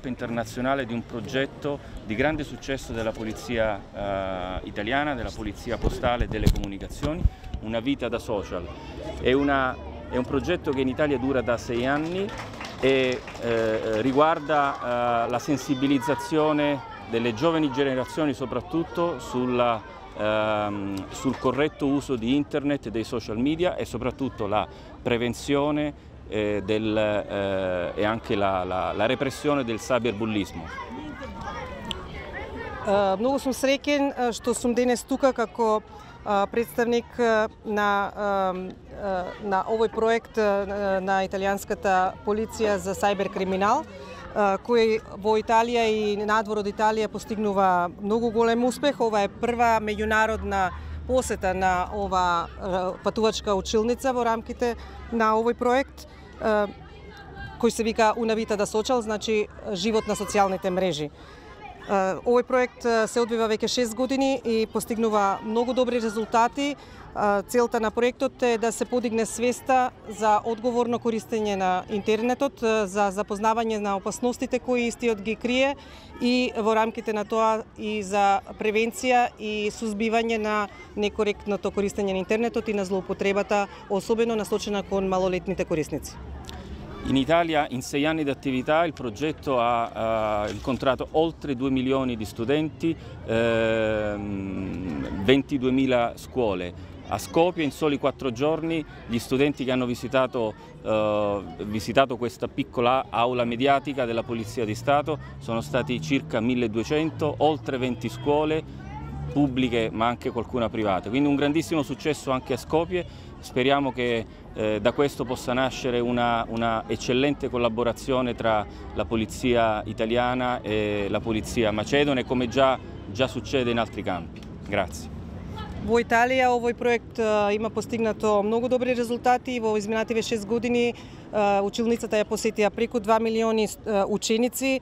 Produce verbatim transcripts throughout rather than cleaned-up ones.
internazionale di un progetto di grande successo della polizia eh, italiana, della polizia postale e delle comunicazioni, Una vita da social. È, una, è un progetto che in Italia dura da sei anni e eh, riguarda eh, la sensibilizzazione delle giovani generazioni soprattutto sulla, ehm, sul corretto uso di internet e dei social media e soprattutto la prevenzione eh, del, eh, e anche la, la, la repressione del cyberbullismo. Uh, mnogo сум среќен што сум денес тука како uh, представник на, uh, на овој проект uh, на италијанската полиција за сайберкриминал, uh, кој во Италија и надвор од Италија постигнува многу голем успех. Ова е прва меѓународна посета на ова uh, патувачка училница во рамките на овој проект, uh, кој се вика Una vita da social, значи живот на социјалните мрежи. Овој проект се одвива веќе шест години и постигнува многу добри резултати. Целта на проектот е да се подигне свеста за одговорно користење на интернетот, за запознавање на опасностите кои истиот ги крие и во рамките на тоа и за превенција и сузбивање на некоректното користење на интернетот и на злоупотребата, особено насочена кон малолетните корисници. In Italia in sei anni di attività il progetto ha uh, incontrato oltre due milioni di studenti, eh, ventiduemila scuole. A Skopje in soli quattro giorni gli studenti che hanno visitato, uh, visitato questa piccola aula mediatica della Polizia di Stato sono stati circa milleduecento, oltre venti scuole pubbliche ma anche qualcuna privata. Quindi un grandissimo successo anche a Skopje. Speriamo che eh, da questo possa nascere una, una eccellente collaborazione tra la polizia italiana e la polizia macedone, come già, già succede in altri campi. Grazie. Во Италија овој проект има постигнато многу добри резултати. Во изминативе шест години училницата ја посетија преку два милиони ученици,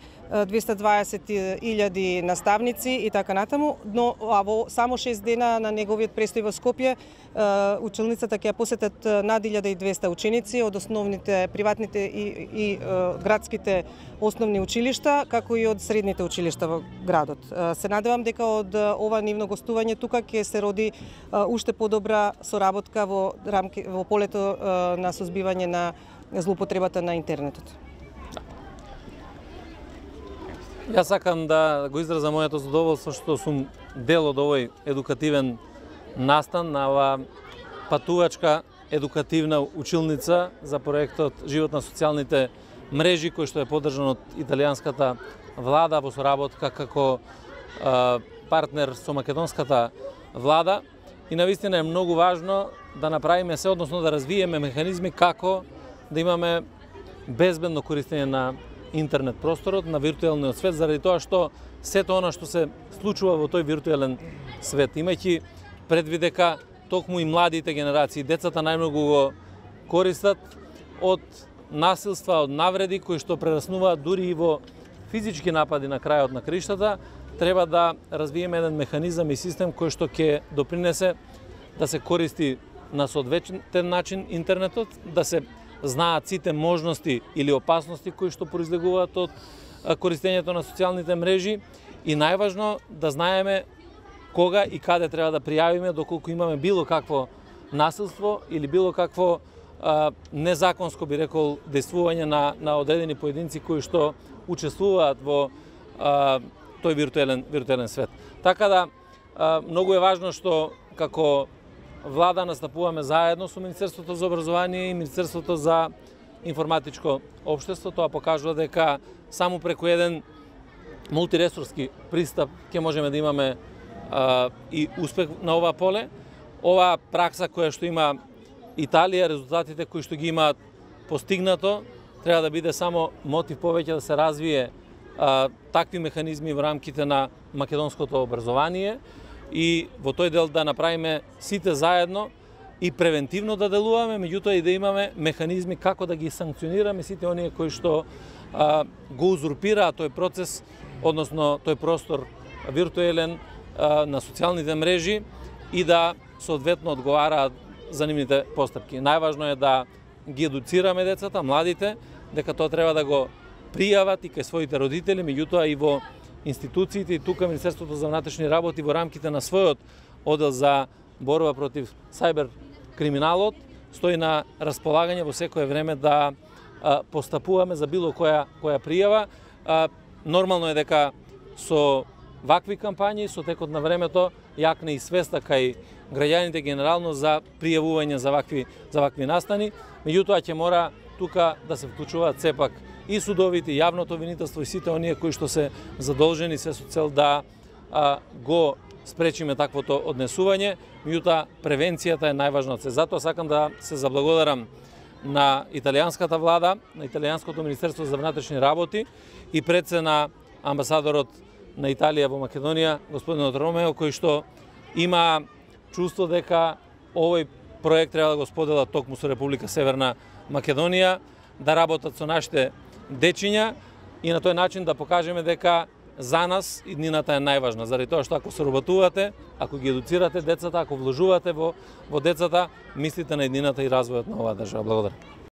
двеста дваесет илјади наставници и така натаму, но а во само шест дена на неговиот престој во Скопје училницата ќе ја посетат над илјада и двеста ученици од основните приватните и, и градските основни училишта, како и од средните училишта во градот. Се надевам дека од ова нивно гостување тука ќе се роди уште подобра соработка во рамки во полето на сузбивање на злоупотребата на интернетот. Јас сакам да го изразам моето задоволство што сум дел од овој едукативен настан на ова патувачка едукативна училница за проектот Живот на социјалните мрежи, кој што е поддржан од италијанската влада во соработка како е, партнер со македонската влада. И навистина е многу важно да направиме се, односно да развиеме механизми како да имаме безбедно користење на интернет просторот, на виртуелниот свет, заради тоа што сето она што се случува во тој виртуелен свет, имајќи предвид дека токму и младите генерации, децата најмногу го користат од насилства, од навреди кои што прераснуваат дури и во физички напади на крајот на криштата, треба да развиеме еден механизам и систем кој што ќе допринесе да се користи на соодветен начин интернетот, да се знаат сите можности или опасности кои што произлегуваат од користењето на социјалните мрежи и најважно да знаеме кога и каде треба да пријавиме доколку имаме било какво насилство или било какво а, незаконско, би рекол, действување на, на одредени поединци кои што учествуваат во а, тој виртуелен, виртуелен свет. Така да, а, многу е важно што како влада настапуваме заедно со Министерството за образование и Министерството за информатичко општество. Тоа покажува дека само преку еден мултиресорски пристап ќе можеме да имаме а, и успех на ова поле. Ова пракса која што има Италија, резултатите кои што ги имаат постигнато, треба да биде само мотив повеќе да се развие а, такви механизми во рамките на македонското образование и во тој дел да направиме сите заедно и превентивно да делуваме, меѓутоа и да имаме механизми како да ги санкционираме сите оние кои што а, го узурпираат тој процес, односно тој простор виртуелен а, на социјалните мрежи и да соодветно одговараат за нивните постапки. Најважно е да ги едуцираме децата, младите, дека тоа треба да го пријават и кај своите родители, меѓутоа и во институциите и тука Министерството за внатрешни работи во рамките на својот оддел за борба против сајбер криминалот стои на располагање во секое време да а, постапуваме за било која која пријава. А, нормално е дека со вакви кампањи, со текот на времето, јакне и свеста кај граѓаните генерално за пријавување за вакви за вакви настани. Меѓутоа ќе мора тука да се вклучуваат сепак и судовите, и јавното обвинителство и сите оние кои што се задолжени се со цел да а, го спречиме таквото однесување. Меѓутоа превенцијата е најважна од се. Затоа сакам да се заблагодарам на италијанската влада, на италијанското Министерство за внатрешни работи и пред се на амбасадорот на Италија во Македонија, господинот Ромео, кој што има чувство дека овој проект треба да го сподела токму со Република Северна Македонија, да работат со нашите дечиња и на тој начин да покажеме дека за нас иднината е најважна, заради тоа што ако се работувате, ако ги едуцирате децата, ако вложувате во во децата, мислите на иднината и развојот на оваа држава. Благодарам.